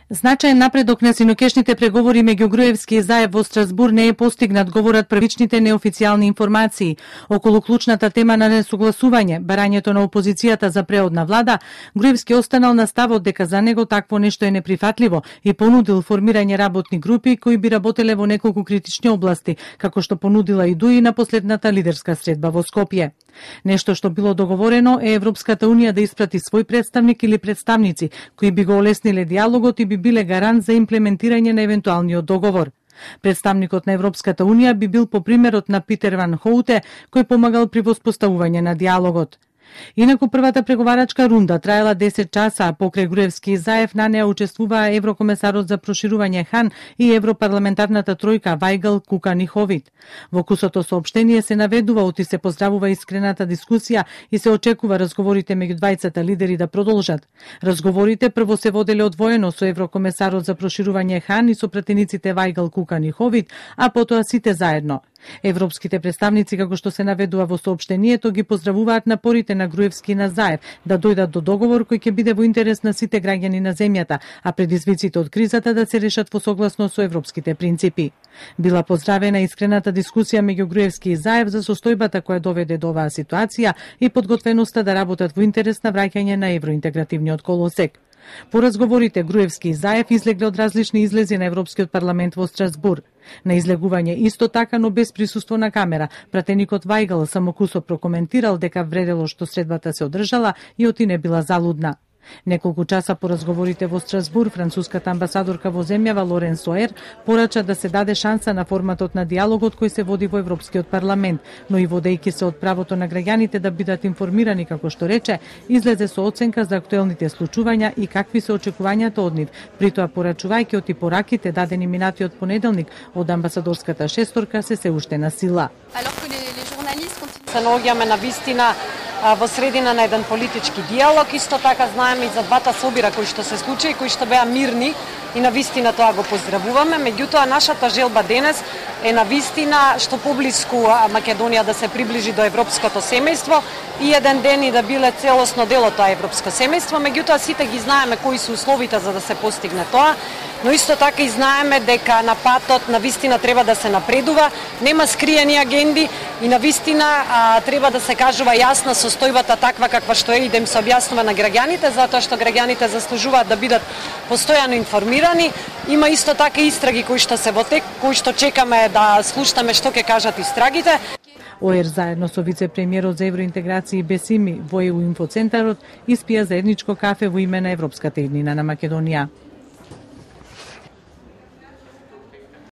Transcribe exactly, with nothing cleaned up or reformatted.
Значаен напредок на синокешните преговори меѓу Груевски и Заев во Страсбур не е постигнат, говорат првичните неофицијални информации. Околу клучната тема на несогласување, барањето на опозицијата за преодна влада, Груевски останал на ставот дека за него такво нешто е неприфатливо и понудил формирање работни групи кои би работеле во неколку критични области, како што понудила и ДУИ на последната лидерска средба во Скопје. Нешто што било договорено е Европската унија да испрати свој представник или представници кои би го олесниле диалогот и би биле гарант за имплементирање на евентуалниот договор. Представникот на Европската унија би бил по примерот на Питер Ван Хоуте, кој помагал при воспоставување на диалогот. Инаку првата преговарачка рунда траела десет часа, а покрај Груевски и Заев на неа учествуваа еврокомесарот за проширување Хан и европарламентарната тројка Вајгал, Кукан и Ховит. Во кусото соопштение се наведува оти се поздравува искрената дискусија и се очекува разговорите меѓу двајцата лидери да продолжат. Разговорите прво се воделе одвоено со еврокомесарот за проширување Хан и со пратениците Вајгал, Кукан и Ховит, а потоа сите заедно. Европските представници, како што се наведува во соопштението, ги поздравуваат напорите на Груевски и на Заев да дојдат до договор кој ќе биде во интерес на сите граѓани на земјата, а предизвиците од кризата да се решат во согласно со европските принципи. Била поздравена искрената дискусија меѓу Груевски и Заев за состојбата која доведе до оваа ситуација и подготвеноста да работат во интерес на враќање на евроинтегративниот колосек. По разговорите Груевски и Заев излегле од различни излези на Европскиот парламент во Страсбур. На излегување исто така, но без присуство на камера, пратеникот Вајгал само кусо прокоментирал дека вредело што средбата се одржала и оти не била залудна. Неколку часа по разговорите во Страсбур, француската амбасадорка во земјава Лорен Соер порача да се даде шанса на форматот на диалогот кој се води во Европскиот парламент, но и водејќи се од правото на граѓаните да бидат информирани, како што рече, излезе со оценка за актуелните случувања и какви се очекувањата од нив, притоа порачувајќи оти пораките дадени минатиот понеделник од амбасадорската шесторка се се уште на сила. Се наоѓаме на вистина во средина на еден политички диалог, исто така знаеме и за двата собира кои што се случи, кои што беа мирни и на вистина тоа го поздравуваме. Меѓутоа нашата желба денес е на вистина што поблиску Македонија да се приближи до европското семејство и еден ден и да биле целосно дел од тоа европско семејство. Меѓутоа сите ги знаеме кои се условите за да се постигне тоа, но исто така и знаеме дека на патот на вистина треба да се напредува, нема скриени агенди и на вистина а, треба да се кажува јасна состојбата таква каква што е и да им се објаснува на граѓаните, затоа што граѓаните заслужуваат да бидат постојано информирани. Има исто така истраги кои што се во тек, кои што чекаме да слушнеме што ќе кажат истрагите. ОЕР заедно со вице-премиерот за евроинтеграција Бесими во ЕУ инфоцентарот испија заедничко кафе во име на Европската еднина на Македонија.